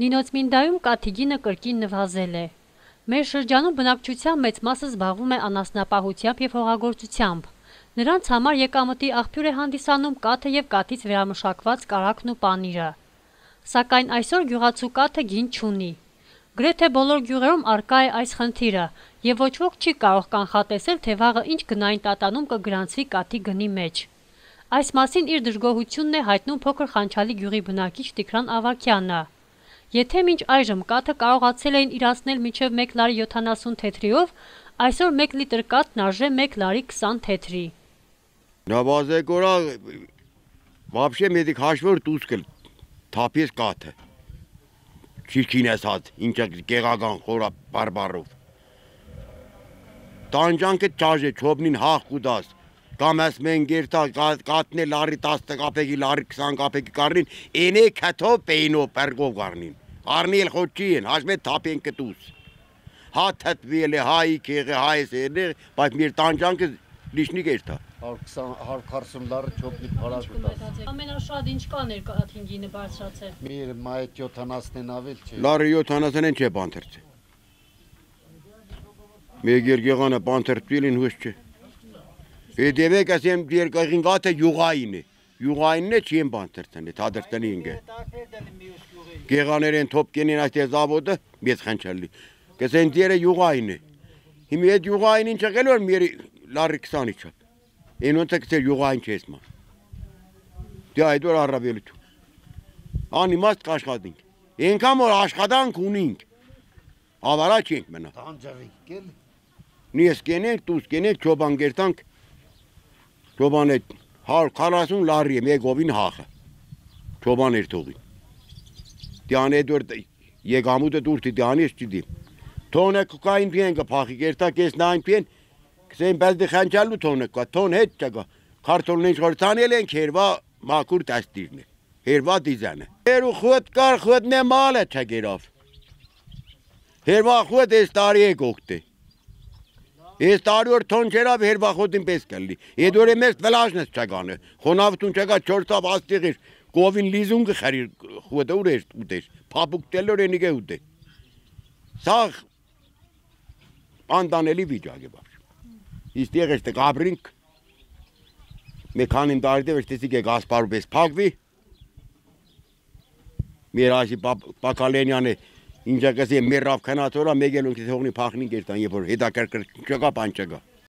Նինոց Մինդայում կաթիգինը կրկին նվազել է։ Մեր շրջանում բնակչության մեծ մասը զբաղվում է անասնապահությամբ եւ հողագործությամբ։ Նրանց համար եկամտի աղբյուր է հանդիսանում կաթը եւ կաթից վերամշակված կարագն ու պանիրը։ Սակայն այսօր գյուղացու կաթը գին չունի։ Գրեթե բոլոր գյուղերում առկա է այս խնդիրը եւ ոչ ոք չի կարող կանխատեսել, թե վաղը ինչ գնային տատանում կգրանցվի կաթի գնի մեջ։ Այս մասին իր դժգոհությունն է հայտնում փոքր Խանչալի գյուղի բնակիչ Տիգրան Ավագյանը։ Եթե մինչ այժմ կաթը կարողացել էին իրացնել մինչև 1 լարի 70 թեթրիով, այսօր 1 լիտր կաթն արժե 1 լարի 20 թեթրի։ Նավազեկորա вообще մեդիկ հաշվոր դուսկել թափես կաթը։ Չիչինեսած, ինչա գեղական խորա բարբարով։ Տանջանքը ճաժե չոբնին հախ կուդաս։ Կամ ես մեն գերտա կաթն է լարի 10 կապեկի, լարի 20 կապեկի կարնին, ենե կաթով պեյնով պերգով կարնին։ Արնիել խոչի են, հաշմե թապեն կտուս։ Հա թտվիել է, հա իքեղը, հա ես էներ, բայց մեր տանջանքը լիշնի գերտա։ 140 լարը չոբնի պարակ կտաս։ Ամենաշատ ինչ կաներ կաթին գինը բարձրացել։ Մեր մայդ 70-ն ավել չէ։ Լարը 70-ն չէ բանթերցե։ Մեր գերգեղանը բանթերցվելին հույս չէ։ Եդևեք ասեմ երկաղին գաթը յուղային է։ Յուղայինն է չի են բանթերցեն է, թադրտանի ինգե։ Գեղաներ են թոպ կենին այստեղ զավոդը, մեծ Խանչալի։ Կսեն դերը յուղային է։ Հիմի այդ յուղային ինչ եղել որ մեր լարի 20-ի չափ։ Այնոնց կսեր յուղային չես ման։ Դե այդ որ առավելություն։ Անիմաստ կաշխատինք։ Ենքան որ աշխատանք ունինք։ Ավարա չենք մնա։ Տանջավիկ կել։ Նիես կենենք, տուս կենենք, չոբան գերտանք։ Չոբան է 140 լարի է մեգովին հախը։ Չոբան էր թողին։ Դյան էդ որ եկամուտը դուրտի դյանի ես չիդիմ։ Թոնը կային պիեն կպախի գերտակ ես նայն պիեն, կսեն բազդի Խանչալու թոնը կա, թոն հետ չակա, քարտոլն ինչ որ ծանել ենք հերվա մակուր տաստիրն է, հերվա դիզան է։ Հերու խուտ կար խուտն է մալ է չագերավ։ Հերվա խուտ ես տարի է գողտ է։ Ես տարի որ թոն չերավ հերվա խոտին պես կլի, եդ որ է մեզ վլաժնես չագանը, խոնավտուն չագա չորտավ աստիղ էր, կովին լիզուն կխարիր խուտը ուր էր ուտեր, պապուկ տելոր ենիք է ուտե։ Սաղ անտանելի վիճակ է բավշ։ Իստեղ ես տեղ ապրինք, մեքանին տարիդև ես տեսիք է գասպարու պես պագվի, մեր ասի պակալենյան է, ինչա կսի մեր ռավ քնաթորա մեգելուն կսի հողնի պախնին կերտան, երբ որ հետակրկր չկա պան չկա։